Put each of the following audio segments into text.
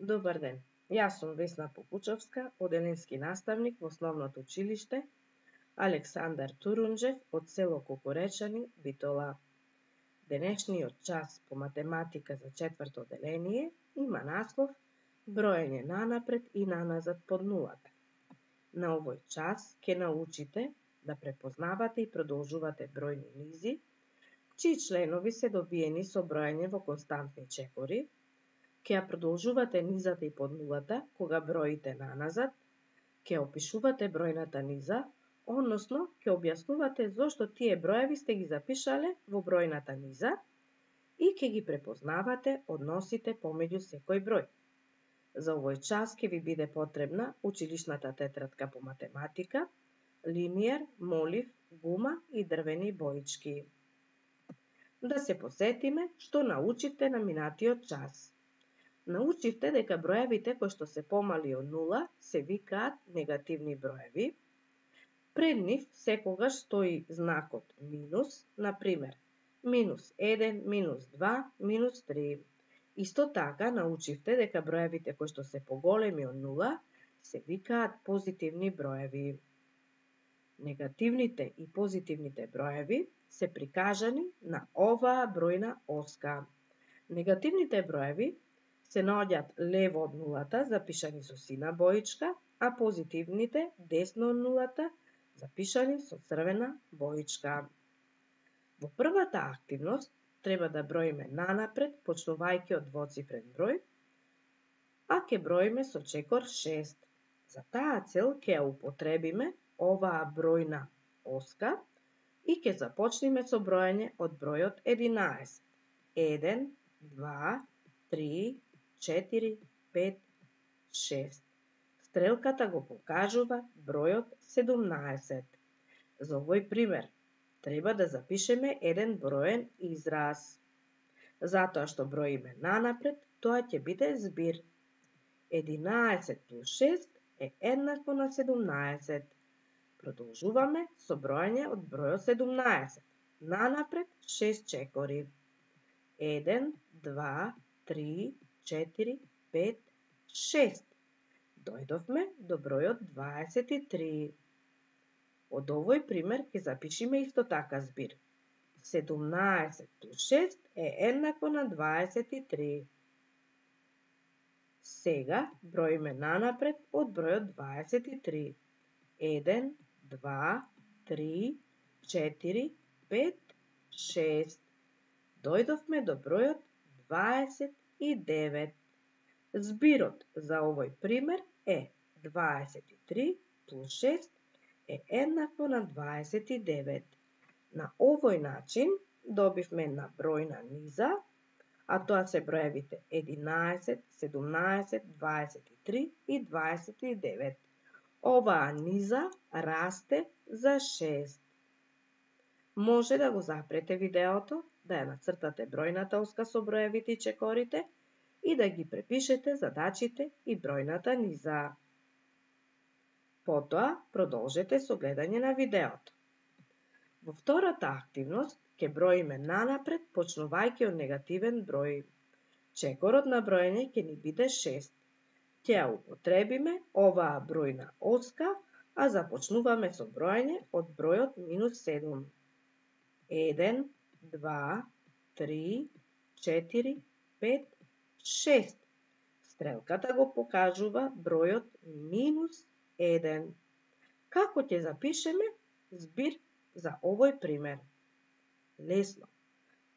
Добар ден, јас сум Весна Попучовска, оделенски наставник во Основното училиште Александар Турунџев од село Кукуречани, Битола. Денешниот час по математика за четврто оделение има наслов Броење нанапред и наназад под нулата. На овој час ќе научите да препознавате и продолжувате бројни низи, чии членови се добиени со броење во константни чекори, ќе ја продолжувате низата и под нулата кога броите наназад, ќе опишувате бројната низа, односно ќе објаснувате зошто тие броеви сте ги запишале во бројната низа и ќе ги препознавате односите помеѓу секој број. За овој час ќе ви биде потребна училишната тетрадка по математика, линиер, молив, гума и дрвени боички. Да се посетиме што научивте на минатиот час. Научивте дека броевите кои што се помали од нула се викаат негативни броеви. Пред нив секогаш стои знакот минус, например, минус 1, минус 2, минус 3. Исто така научивте дека броевите кои што се поголеми од нула се викаат позитивни броеви. Негативните и позитивните броеви се прикажани на оваа бројна оска. Негативните броеви се наоѓаат лево од нулата, запишани со сина боичка, а позитивните десно од нулата, запишани со црвена боичка. Во првата активност треба да броиме нанапред, почнувајќи од двоцифрен број, а ќе броиме со чекор 6. За таа цел ќе ја употребиме оваа бројна оска и ќе започнеме со броење од бројот 11. 1, 2, 3, 4, 5, 6. Стрелката го покажува бројот 17. За овој пример треба да запишеме еден броен израз. Затоа што броиме нанапред, тоа ќе биде збир. 11 плюс 6 е еднакво на 17. Продолжуваме со броење од бројот 17. Нанапред 6 чекори. 1, 2, 3, 4, 5, 6. Дојдовме до бројот 23. Од овој пример ќе запишеме исто така збир. 17 плюс 6 е еднакво на 23. Сега броиме нанапред од бројот 23. 1, 2, 3, 4, 5, 6. Дојдовме до бројот 29. Збирот за овој пример е 23 плюс 6 е еднакво на 29. На овој начин добивме една бројна низа, а тоа се броевите 11, 17, 23 и 29. Оваа низа расте за 6. Може да го запрете видеото, да ја нацртате бројната оска со броевите и чекорите и да ги препишете задачите и бројната низа. Потоа продолжете со гледање на видеото. Во втората активност ќе броиме нанапред, почнувајќи од негативен број. Чекорот на броење ќе ни биде 6. Ќе ја употребиме оваа бројна оска, а започнуваме со броење од бројот минус 7. 1, 2, 3, 4, 5, 6. Стрелката го покажува бројот минус 1. Како ќе запишеме збир за овој пример? Лесно.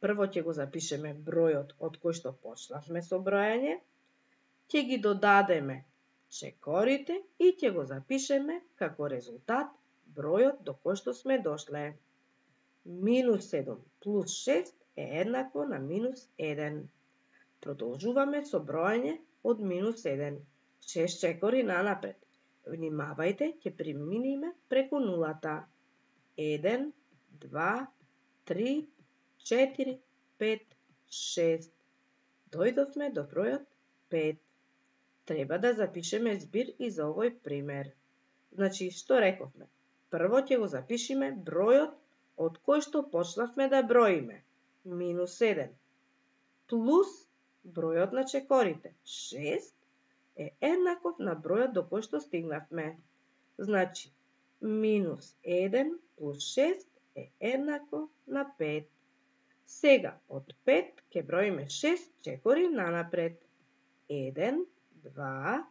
Прво ќе го запишеме бројот од кој што почнавме со броење, ќе ги додадеме чекорите и ќе го запишеме како резултат бројот до кој што сме дошле. Минус 7 плюс 6 е еднакво на минус 1. Продолжуваме со броење од минус 1. 6 чекори нанапред. Внимавајте, ќе преминиме преку нулата. 1, 2, 3, 4, 5, 6. Дојдовме до бројот 5. Треба да запишеме збир и за овој пример. Значи, што рековме? Прво ќе го запишеме бројот од кој што почнавме да броиме. Минус 7. Плюс бројот на чекорите. 6 е еднаков на бројот до кој што стигнавме. Значи, минус 1 плюс 6 е еднакво на 5. Сега, од 5 ќе броиме 6 чекори нанапред. 1, 2,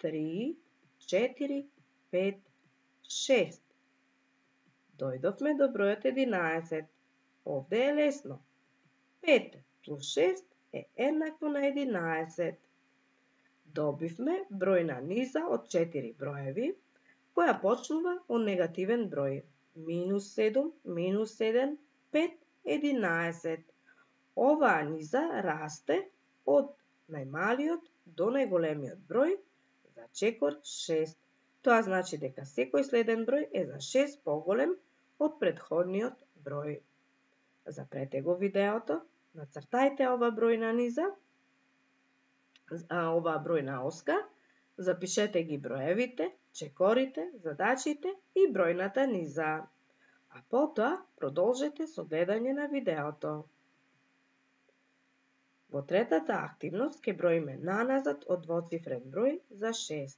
3, 4, 5, 6. Дојдовме до бројот 11. Овде е лесно. 5 плюс 6 е еднакво на 11. Добивме бројна низа од 4 броеви, која почнува од негативен број. Минус 7, минус 1, 5, 11. Оваа низа расте од најмалиот до најголемиот број за чекор 6. Тоа значи дека секој следен број е за 6 поголем од претходниот број. Запрете го видеото, нацртајте ова бројна низа, оваа бројна оска, запишете ги броевите, чекорите, задачите и бројната низа. А потоа продолжете со гледање на видеото. Во третата активност ќе броиме наназад од двоцифрен број за 6.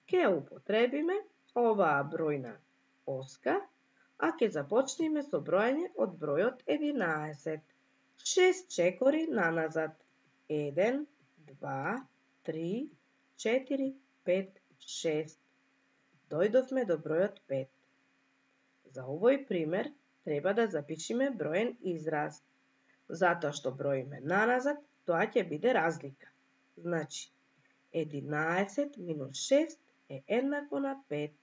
Ќе употребиме оваа бројна оска, а ќе започнеме со броење од бројот 11. 6 чекори наназад. 1, 2, 3, 4, 5, 6. Дојдовме до бројот 5. За овој пример треба да запишеме броен израз. Затоа што броиме наназад, тоа ќе биде разлика. Значи, 11 минус 6 е еднакво на 5.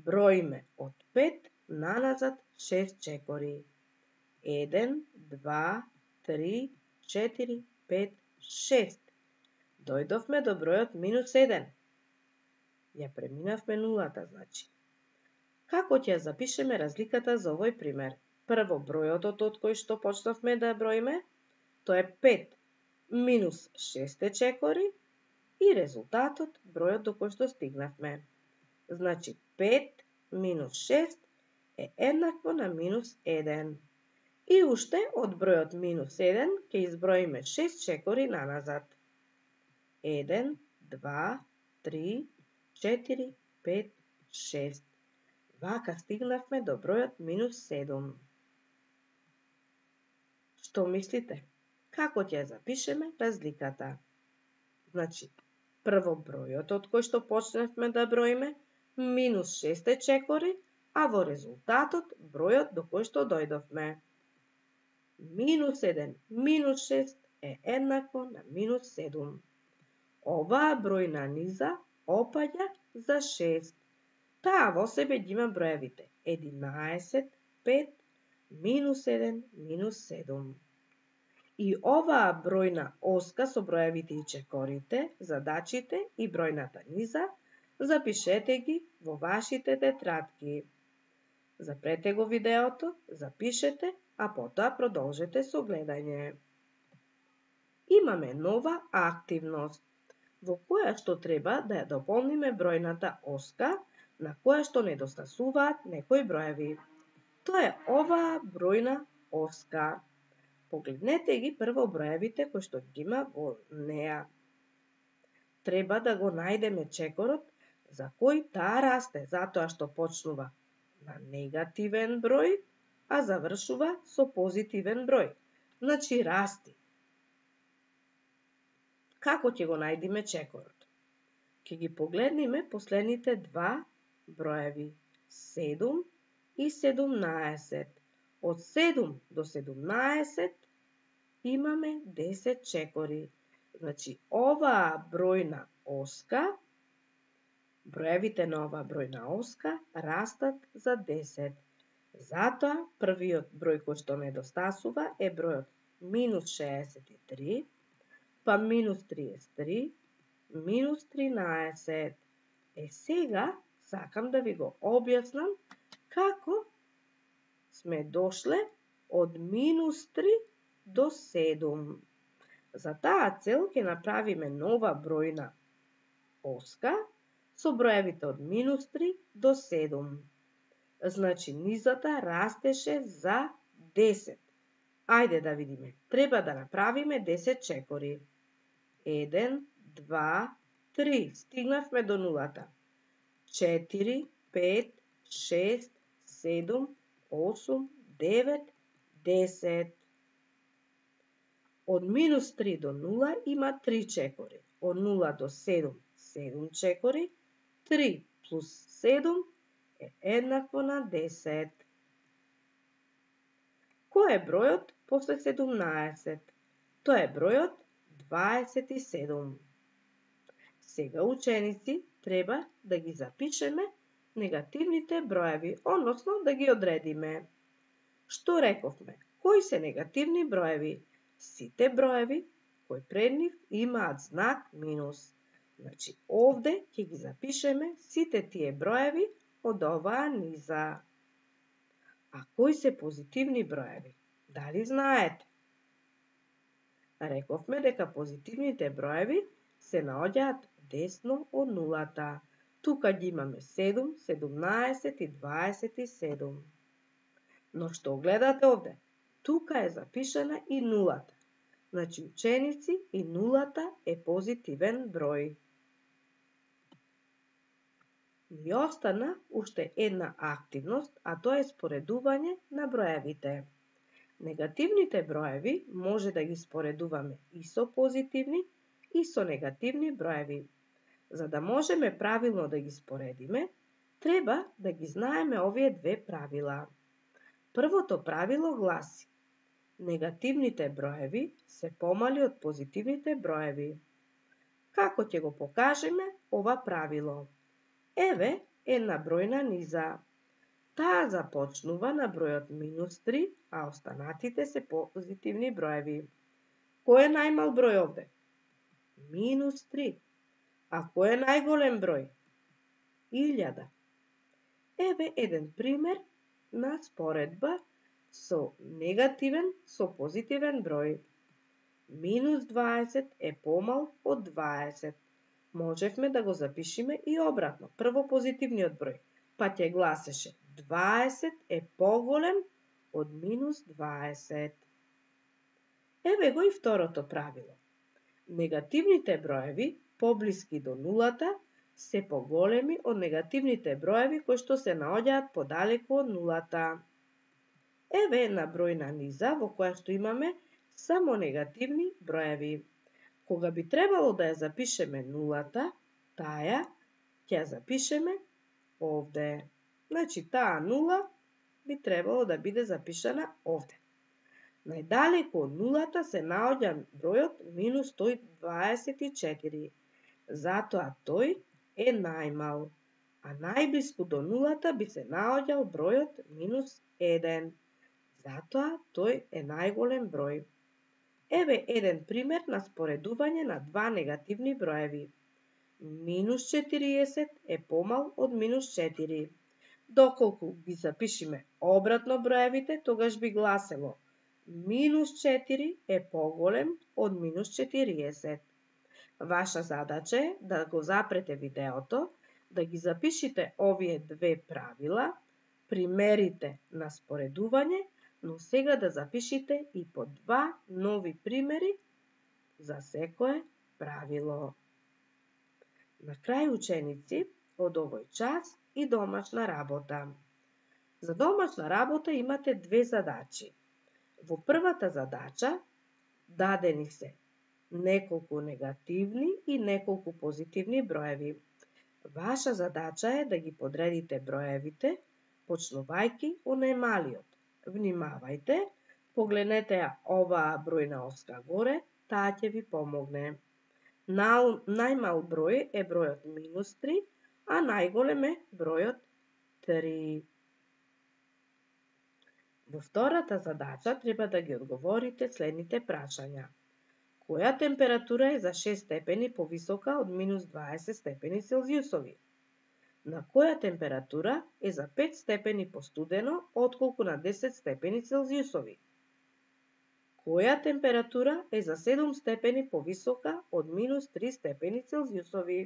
Броиме од 5 наназад 6 чекори. 1, 2, 3, 4, 5, 6. Дојдовме до бројот минус 1. Ја преминавме нулата, значи. Како ќе запишеме разликата за овој пример? Прво бројот од кој што почнавме да броиме, тоа е 5 минус 6 чекори и резултатот бројот до кој што стигнавме. Значи 5 минус 6 е еднакво на минус 1. И уште од бројот минус 1 ќе изброиме 6 чекори наназад. 1, 2, 3, 4, 5, 6. Вака стигнавме до бројот минус 7. Што мислите? Како ќе запишеме разликата? Значи, прво бројот од кој што почнавме да броиме, минус 6 чекори, а во резултатот бројот до кој што дојдовме. Минус 1 минус 6 е еднакво на минус 7. Оваа бројна низа опаѓа за 6. Таа во себе ги има броевите 11, 5, минус 1, минус 7. И оваа бројна оска со броевите и чекорите, задачите и бројната низа, запишете ги во вашите тетрадки. Запрете го видеото, запишете, а потоа продолжете со гледање. Имаме нова активност, во која што треба да ја дополниме бројната оска, на која што недостасуваат некои броеви. Тоа е оваа бројна оска. Погледнете ги прво броевите кои што ги има во неа. Треба да го најдеме чекорот за кој таа расте, затоа што почнува на негативен број, а завршува со позитивен број. Значи расти. Како ќе го најдеме чекорот? Ќе ги погледнеме последните два броеви 7 и 17. Од 7 до 17 имаме 10 чекори. Значи, оваа бројна оска, броевите на оваа бројна оска растат за 10. Затоа, првиот број кој што недостасува е бројот минус 63, па минус 33, минус 13. Сега сакам да ви го објаснам како сме дошле од минус 3 до 7. За таа цел ќе направиме нова бројна оска со броевите од минус 3 до 7. Значи, низата растеше за 10. Ајде да видиме. Треба да направиме 10 чекори. 1, 2, 3, стигнавме до нулата. 4, 5, 6, 7, 8, 9, 10. Од минус 3 до 0 има 3 чекори. Од 0 до 7, 7 чекори. 3 плюс 7 е еднакво на 10. Кој е бројот после 17? Тоа е бројот 27. Сега, ученици, треба да ги запишеме негативните броеви, односно да ги одредиме. Што рековме? Кои се негативни броеви? Сите броеви кои пред нив имаат знак минус. Значи, овде ќе ги запишеме сите тие броеви од оваа низа. А кои се позитивни броеви? Дали знаете? Рековме дека позитивните броеви се наоѓаат десно од нулата. Тука ги имаме 7, 17 и 27. Но што гледате овде? Тука е запишана и нулата. Значи, ученици, и нулата е позитивен број. Ни остана уште една активност, а тоа е споредување на броевите. Негативните броеви може да ги споредуваме и со позитивни, и со негативни броеви. За да можеме правилно да ги споредиме, треба да ги знаеме овие две правила. Првото правило гласи: негативните броеви се помали од позитивните броеви. Како ќе го покажеме ова правило? Еве една бројна низа. Таа започнува на бројот минус 3, а останатите се позитивни броеви. Кој е најмал број овде? Минус 3. А кој е најголем број? 1000. Еве еден пример на споредба со негативен со позитивен број. Минус 20 е помал од 20. Можевме да го запишеме и обратно. Прво позитивниот број, па ќе гласеше 20 е поголем од минус 20. Еве го и второто правило. Негативните броеви, поблиски до нулата, се поголеми од негативните броеви кои што се наоѓаат подалеку од нулата. Еве една бројна низа во која што имаме само негативни броеви. Кога би требало да ја запишеме нулата, таа ќе ја запишеме овде. Значи, таа нула би требало да биде запишана овде. Најдалеку од нулата се наоѓа бројот минус 124. Затоа тој е најмал. А најблиску до нулата би се наоѓал бројот минус 1. Затоа тој е најголем број. Еве еден пример на споредување на два негативни броеви. Минус 40 е помал од минус 4. Доколку ги запишеме обратно броевите, тогаш би гласело минус 4 е поголем од минус 40. Ваша задача е да го запрете видеото, да ги запишите овие две правила, примерите на споредување, но сега да запишите и по два нови примери за секое правило. На крај, ученици, од овој час и домашна работа. За домашна работа имате две задачи. Во првата задача дадени се неколку негативни и неколку позитивни броеви. Ваша задача е да ги подредите броевите, почнувајќи од најмалиот. Внимавајте, погледнете ја оваа бројна оска горе, таа ќе ви помогне. Најмал број е бројот минус 3, а најголем е бројот 3. Во втората задача треба да ги одговорите следните прашања. Која температура е за 6 степени повисока од минус 20 степени Целзиусови? На која температура е за 5 степени постудено отколку на 10 степени Целзиусови? Која температура е за 7 степени повисока од минус 3 степени Целзиусови?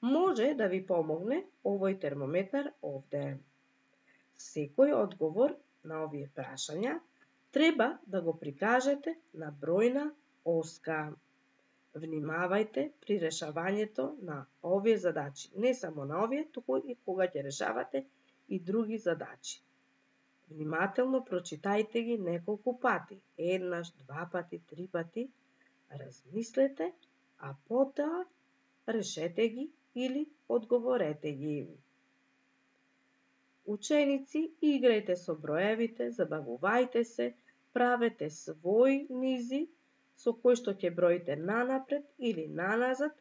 Може да ви помогне овој термометар овде. Секој одговор на овие прашања треба да го прикажете на бројна оска. Внимавајте при решавањето на овие задачи, не само на овие, туку и кога ќе решавате и други задачи. Внимателно прочитајте ги неколку пати, еднаш, 2 пати, 3 пати, размислете, а потоа решете ги или одговорете ги. Ученици, играјте со броевите, забавувајте се, правете свој низи со кој што ќе броите нанапред или наназад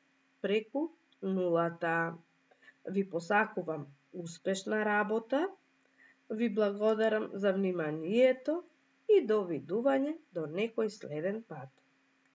преку нулата. Ви посакувам успешна работа, ви благодарам за вниманието и довидување до некој следен пат.